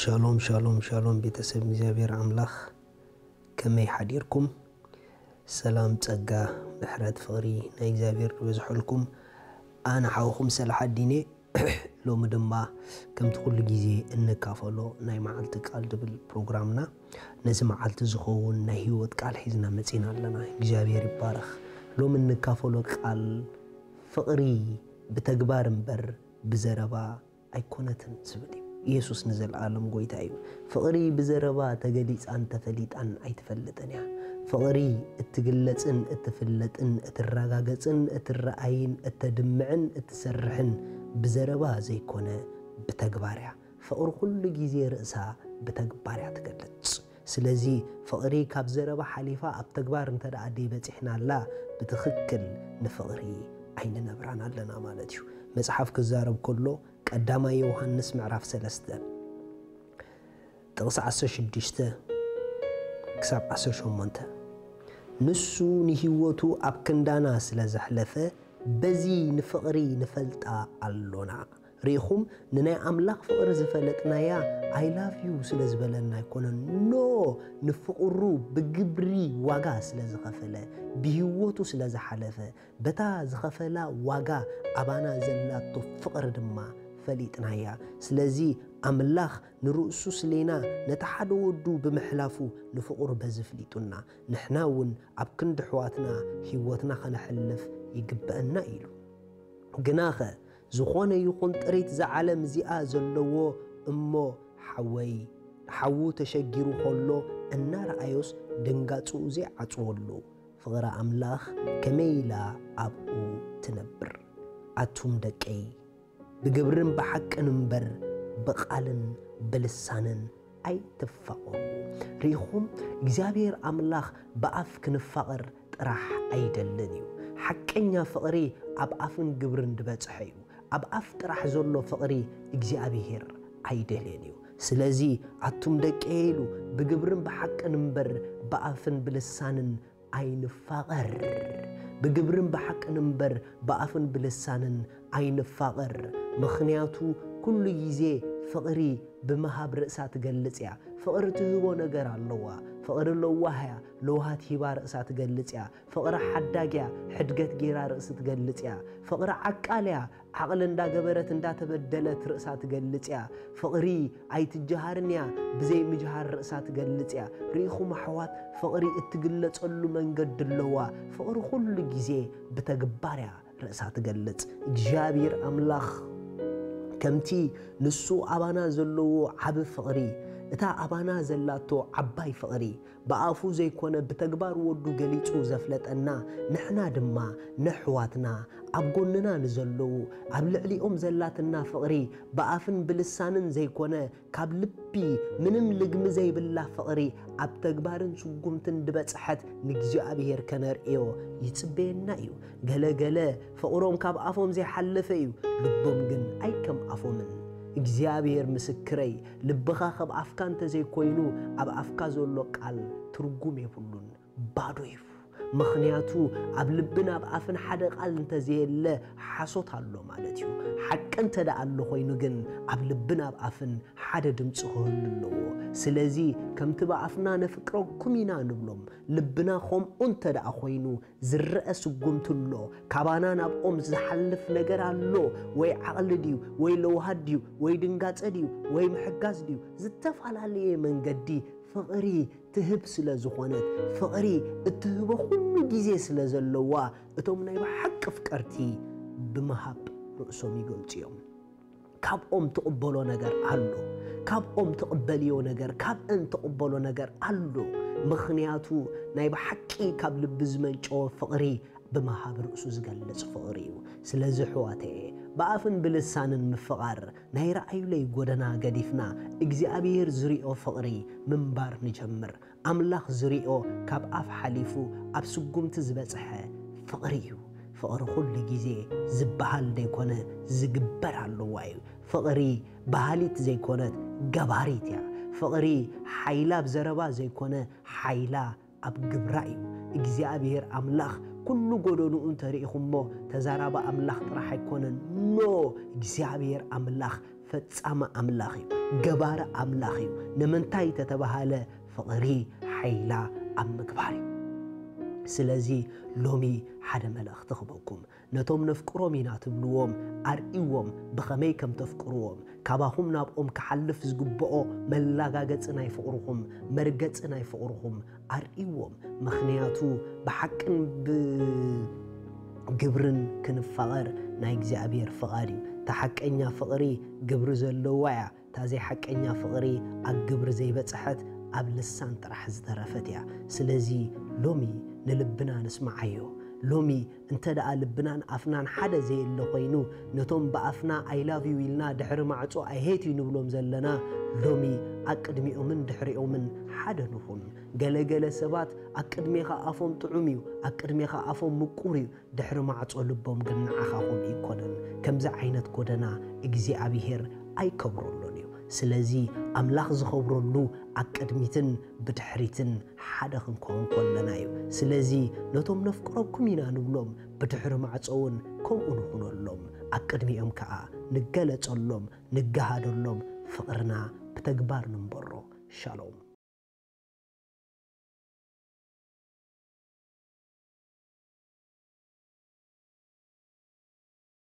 ሻሎም ሻሎም ሻሎም፣ ቤተሰብ እግዚኣብሔር ኣምላኽ፣ ከመይ ሓዲርኩም? ሰላም፣ ጸጋ፣ ምሕረት፣ ፍቕሪ ናይ እግዚኣብሔር ይበዝሐልኩም። ኣነ ሓውኹም ሰላሓዲን እየ። ሎሚ ድማ ከምቲ ኩሉ ግዜ እንካፈሎ ናይ መዓልቲ ቃል ዝብል ፕሮግራምና፣ ነዚ መዓልቲ ዝኸውን ናይ ህይወት ቃል ሒዝና መጺና ኣለና። እግዚኣብሔር ይባረኽ። ሎሚ እንካፈሎ ቃል ፍቕሪ ብተግባር እምበር ብዘረባ ኣይኮነትን ዝብል እዩ። ኢየሱስ ንዘለኣለም ጎይታ እዩ። ፍቕሪ ብዘረባ ተገሊጻን ተፈሊጣን ኣይትፈልጥን እያ። ፍቕሪ እትግለጽን እትፍለጥን እትረጋገጽን እትረኣይን እተድምዕን እትሰርሕን ብዘረባ ዘይኮነ ብተግባር እያ። ፍቕሪ ኩሉ ግዜ ርእሳ ብተግባር እያ ትገልጽ። ስለዚ ፍቕሪ ካብ ዘረባ ሓሊፋ ኣብ ተግባር እንተ ደኣ ደይበጺሕናላ፣ ብትኽክል ንፍቕሪ ኣይንነብራን ኣለና ማለት እዩ። መጽሓፍ ክዛረብ ከሎ፣ ቀዳማይ ዮሃንስ ምዕራፍ ሰለስተ ጥቕሲ ዓሰርተ ሽዱሽተ ክሳብ ዓሰርተ ሸሞንተ፣ "ንሱ ንህይወቱ ኣብ ክንዳና ስለ ዘሕለፈ፣ በዚ ንፍቕሪ ንፈልጣ ኣሎና።" ርኢኹም፣ ንናይ ኣምላኽ ፍቕሪ ዝፈለጥናያ፣ "I love you" ስለ ዝበለና ኣይኮነን። ኖ፣ ንፍቕሩ ብግብሪ ዋጋ ስለ ዝኸፈለ፣ ብህይወቱ ስለ ዝሓለፈ፣ በታ ዝኸፈላ ዋጋ ኣባና ዘላቶ ፍቕሪ ድማ ፈሊጥናያ። ስለዚ ኣምላኽ ንርእሱ ስሌና ነቲ ሓደ ወዱ ብምሕላፉ ንፍቕሩ በዚ ፍሊጡና፣ ንሕና እውን ኣብ ክንዲ ኣሕዋትና ህይወትና ኸነሕልፍ ይግብአና ኢሉ። ግናኸ ዝኾነ ይኹን ጥሪት እዛ ዓለም እዚኣ ዘለዎ እሞ ሓወይ፣ ሓዉ ተሸጊሩ ኸሎ እናረኣዮስ ድንጋጽኡ ዘይዓጽወሉ፣ ፍቕሪ ኣምላኽ ከመይ ኢላ ኣብኡ ትነብር? ኣቱም ደቀይ፣ ብግብርን ብሓቅን እምበር ብቓልን ብልሳንን ኣይትፋቐሩ። ርኢኹም፣ እግዚኣብሔር ኣምላኽ ብኣፍ ክንፋቐር ጥራሕ ኣይደልን እዩ። ሓቀኛ ፍቕሪ ኣብ ኣፍን ግብርን ዝበጽሐ እዩ። ኣብ ኣፍ ጥራሕ ዘሎ ፍቕሪ እግዚኣብሔር ኣይደልየን እዩ። ስለዚ ኣቱም ደቀየ ኢሉ፣ ብግብርን ብሓቅን እምበር ብኣፍን ብልሳንን ኣይንፋቐር። ብግብርን ብሓቅን እምበር ብኣፍን ብልሳንን ኣይንፋቐር። ምኽንያቱ ኩሉ ግዜ ፍቕሪ ብምሃብ ርእሳ ትገልጽ እያ። ፍቕሪ ትህቦ ነገር ኣለዋ። ፍቕሪ ለዋህ እያ። ለውሃት ሂባ ርእሳ ትገልጽ እያ። ፍቕሪ ሓዳግ እያ። ሕድገት ጌራ ርእሲ ትገልጽ እያ። ፍቕሪ ዓቃል እያ። ዓቕሊ እንዳገበረት እንዳተበደለት ርእሳ ትገልጽ እያ። ፍቕሪ ኣይትጀሃርን እያ። ብዘይ ምጅሃር ርእሳ ትገልጽ እያ። ርኢኹም ኣሕዋት፣ ፍቕሪ እትግለጸሉ መንገዲ ኣለዋ። ፍቕሪ ኩሉ ግዜ ብተግባር እያ ርእሳ ትገልጽ። እግዚኣብሔር ኣምላኽ ከምቲ ንሱ ኣባና ዘለዎ ዓቢ ፍቕሪ፣ እታ ኣባና ዘላቶ ዓባይ ፍቕሪ፣ ብኣፉ ዘይኮነ ብተግባር ወዱ ገሊጹ ዘፍለጠና፣ ንሕና ድማ ነሕዋትና፣ ኣብ ጎንና ንዘለዉ፣ ኣብ ልዕሊኦም ዘላትና ፍቕሪ፣ ብኣፍን ብልሳንን ዘይኮነ፣ ካብ ልቢ ምንም ልግሚ ዘይብላ ፍቕሪ፣ ኣብ ተግባርን ስጉምትን ድበጽሐት ንእግዚኣብሔር ከነርእዮ ይጽበየና እዩ። ገለ ገለ ፍቕሮም ካብ ኣፎም ዘይሓለፈ እዩ፣ ልቦም ግን ኣይከም ኣፎምን። እግዚኣብሔር ምስክረይ፣ ልብኻ ከም ኣፍካ እንተዘይኮይኑ፣ ኣብ ኣፍካ ዘሎ ቃል ትርጉም የብሉን፣ ባዶ እዩ። ምኽንያቱ ኣብ ልብን ኣብ ኣፍን ሓደ ቃል እንተዘየለ ሓሶት ኣሎ ማለት እዩ። ሓቂ እንተ ደኣ ኣሎ ኮይኑ ግን ኣብ ልብን ኣብ ኣፍን ሓደ ድምፂ ክህሉ ኣለዎ። ስለዚ ከምቲ ብኣፍና ነፍቅረኩም ኢና ንብሎም፣ ልብና ከምኡ እንተ ደኣ ኮይኑ ዝረአ ስጉምቲ ኣሎ፣ ካባና ናብኦም ዝሓልፍ ነገር ኣሎ፣ ወይ ዓቕሊ ድዩ፣ ወይ ለውሃት ድዩ፣ ወይ ድንጋጸ ድዩ፣ ወይ ምሕጋዝ ድዩ፣ ዝተፈላለየ መንገዲ ፍቕሪ ትህብ ስለ ዝኾነት፣ ፍቕሪ እትህቦ ኩሉ ግዜ ስለ ዘለዋ፣ እቶም ናይ ብሓቂ ፍቀርቲ ብምሃብ ርእሶም ይገልጹ እዮም። ካብኦም ትቕበሎ ነገር ኣሎ። ካብኦም ትቕበልዮ ነገር፣ ካብአን ትቕበሎ ነገር ኣሎ። ምኽንያቱ ናይ ብሓቂ ካብ ልቢ ዝመንጨወ ፍቕሪ ብምሃብ ርእሱ ዝገልጽ ፍቕሪ እዩ። ስለዚ ኣሕዋተየ፣ ብኣፍን ብልሳንን ምፍቓር ናይ ረኣዩለይ ጎደና ገዲፍና እግዚኣብሔር ዝሪኦ ፍቕሪ ምንባር ንጀምር። ኣምላኽ ዝሪኦ ካብ ኣፍ ሓሊፉ ኣብ ስጉምቲ ዝበጽሐ ፍቕሪ እዩ። ፍቕሪ ኩሉ ግዜ ዝበሃል ዘይኮነ ዝግበር ኣለዋ እዩ። ፍቕሪ በሃሊት ዘይኮነት ገባሪት እያ። ፍቕሪ ሓይላ ኣብ ዘረባ ዘይኮነ ሓይላ ኣብ ግብራ እዩ። እግዚኣብሔር ኣምላኽ ኩሉ ጎደንኡ እንተሪኢኹሞ ተዛራቢ ኣምላኽ ጥራሕ ኣይኮነን። ኖ፣ እግዚኣብሔር ኣምላኽ ፈጻሚ ኣምላኽ እዩ። ገባሪ ኣምላኽ እዩ። ንምንታይ ተተባሃለ፣ ፍቕሪ ሓይላ ኣብ ምግባር እዩ። ስለዚ ሎሚ ሓደ መልእኽቲ ክበኩም። ነቶም ነፍቅሮም ኢና ትብልዎም ኣርእዎም ብኸመይ ከም ተፍቅርዎም። ካባኹም ናብኦም ክሓልፍ ዝግብኦ መላጋገጺ ናይ ፍቕርኹም፣ መርገጺ ናይ ፍቕርኹም ኣርእዎም። ምኽንያቱ ብሓቅን ብግብርን ክንፋቐር ናይ እግዚኣብሔር ፍቓድ እዩ። እታ ሓቀኛ ፍቕሪ ግብሪ ዘለዋ እያ። እታ ዘይሓቀኛ ፍቕሪ ኣብ ግብሪ ዘይበጽሐት ኣብ ልሳን ጥራሕ ዝተረፈት እያ። ስለዚ ሎሚ ንልብና ንስምዓዮ። ሎሚ እንተ ደኣ ልብናን ኣፍናን ሓደ ዘየለ ኮይኑ፣ ነቶም ብኣፍና I love you ኢልና ድሕሪ ማዕጾ I hate you ንብሎም ዘለና፣ ሎሚ ኣቅድሚኦምን ድሕሪኦምን ሓደ ንኹን። ገለገለ ሰባት ኣቅድሜኻ ኣፎም ጥዑም እዩ፣ ኣቅድሜኻ ኣፎም ምቁር እዩ፣ ድሕሪ ማዕጾ ልቦም ግን ንዓኻ ከምኡ ኣይኮነን። ከምዚ ዓይነት ጎደና እግዚኣብሔር ኣይከብረሎን እዩ። ስለዚ ኣምላኽ ዝኸብረሉ ኣቅድሚትን ብድሕሪትን ሓደ ክንከውን ከለና እዩ። ስለዚ ነቶም ነፍቅረኩም ኢና ንብሎም ብድሕሪ ማዕጾ እውን ከምኡ ንኹነሎም። ኣቅድሚኦም ከኣ ንገለጸሎም፣ ንገሃደሎም፣ ፍቕርና ብተግባር ንንበሮ። ሻሎም።